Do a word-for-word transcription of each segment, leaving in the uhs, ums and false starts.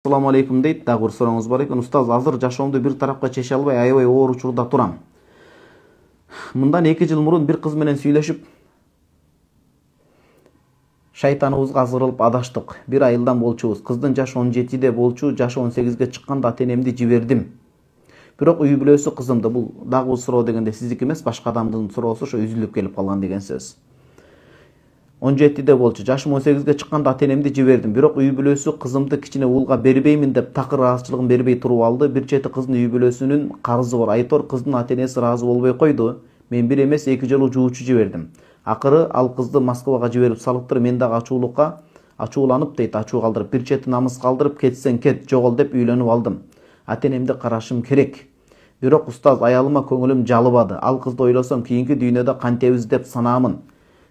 Assalamu alaikum deyт, дагы бир сурооңуз бар экен. Устаз, азыр жашоомду бир тарапка чече албай, аябай оор учурда турам. Мындан эки жыл мурун бир кыз менен сүйлөшүп, шайтаныбызга азгырылып адаштык. Бир айылдан болчубуз. Кыздын жашы он жетиде болчу, жашы он сегизге чыкканда ата-энемди жибердим. Бирок үй бүлөсү кызымды, бул дагы бир суроо дегенде сиздики эмес, башка адамдын суроосу ошо үзүлүп келип калган деген сөз. он жетиде болчу, жашым он сегизге чыкканда ата-энемди жибердим. Бирок үй бүлөсү кызымды кичине уулга бербеймин деп такыр ыраазычылыгын бербей туруп алды. Бир чети кыздын үй бүлөсүнүн карызы бар. Айтор кыздын ата-энеси ыраазы болбой койду. Мен бир эмес эки жолу жуучу жибердим. Акыры ал кызды Москвага жиберип салыптыр. Мен дагы ачуулукка ачууланып дейт, ачуу калдырып, бир чети намыс калдырып, кетсең кет, жогол деп үйлөнүп алдым. Ата-энемди карашым керек. Бирок устаз, аялыма көңүлүм жалыбады. Ал кызды ойлосом, кийинки дүйнөдө кантебиз деп санаамын.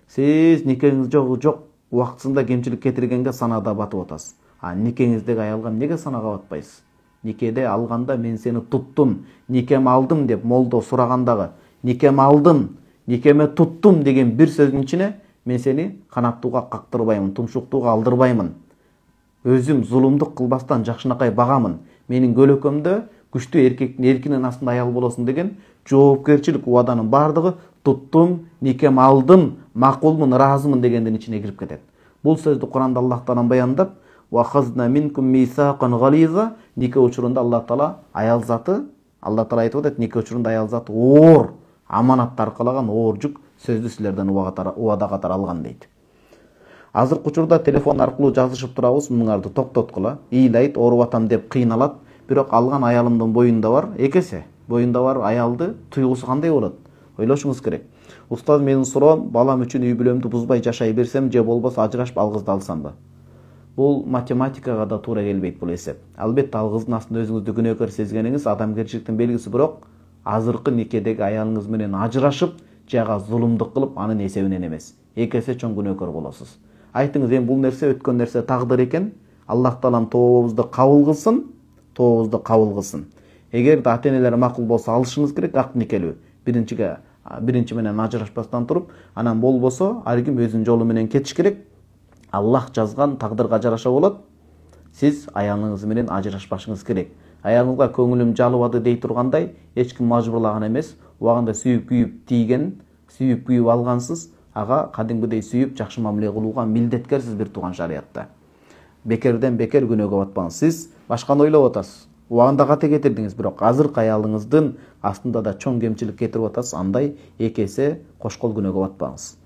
Сиз никеңиз жок жок убактысында кемчилик кетиргенге санаада батып атасыз. А никеңиздеги аялга эмнеге санага батпайсыз? Никеде алганда мен сени туттум, никем алдым деп молдо сурагандагы никем алдым, никеме туттум деген бир сөздүн ичине мен сени канаттууга кактырбаймын, тумшуктууга алдырбаймын. Өзүм зулумдук кылбастан жакшынакай багамын. Менин көлөкөмдө күчтүү эркектин эркинин астында аял болосуң деген жоопкерчилик убаданын бардыгы туттум, никем алдым, макулмун, ыраазымын дегендин ичине кирип кетет. Бул сөздү Куранда Аллах Таала баяндап, "Ва хазна минкум мисакан гализа", нике учурунда Аллах Таала аял заты, Аллах Таала айтып атат, нике учурунда аял заты оор аманатты аркалаган оор жүк сөздү силерден убада катары алган дейт. Азыркы учурда телефон аркылуу жазышып турабыз, муңарды токтоткула. Ыйлайт, ооруп атам деп кыйналат, бирок алган аялымдын боюнда бар, экесе боюнда бар аялды туйгусу кандай болот? Ойлошуңуз керек. Устаз, менин суроом, балам үчүн үй бүлөмдү бузбай жашай берсем же болбосо ажырашып ал кызды алсамбы? Бул математикага да туура келбейт бул эсеп. Албетте ал кыздын астында өзүңүздү күнөөкөр сезгениңиз адамгерчиликтин белгиси, бирок азыркы никедеги аялыңыз менен ажырашып, жага зулумдук кылып, анын эсебинен эмес. Эки эсе чоң күнөөкөр болосуз. Айтыңыз, эми бул нерсе өткөн нерсе, тагдыр экен. Аллах Таалам тообубузду кабыл кылсын, тообубузду кабыл кылсын. Эгерде ата-энелер макул болсо алышыңыз керек, ак никелүү. Биринчиге биринчи менен ажырашпастан туруп, анан болбосо ар ким өзүнүн жолу менен кетиш керек. Аллах жазган тагдырга жараша болот. Сиз аялыңыз менен ажырашпашыңыз керек. Аялыңызга көңүлүм жалыбады дей тургандай, эч ким мажбурлаган эмес. Убагында сүйүп күйүп тийген, сүйүп күйүп алгансыз, ага кадимгидей сүйүп жакшы мамиле кылууга милдеткерсиз бир тууган шариятта. Бекерден бекер күнөөгө батпаңыз. Сиз башканы ойлоп атасыз. Убагында кате кетирдиңиз, бирок азыркы аялыңыздын астында да чоң кемчилик кетирип атасыз. Андай эки эсе кошкол күнөөгө батпаңыз.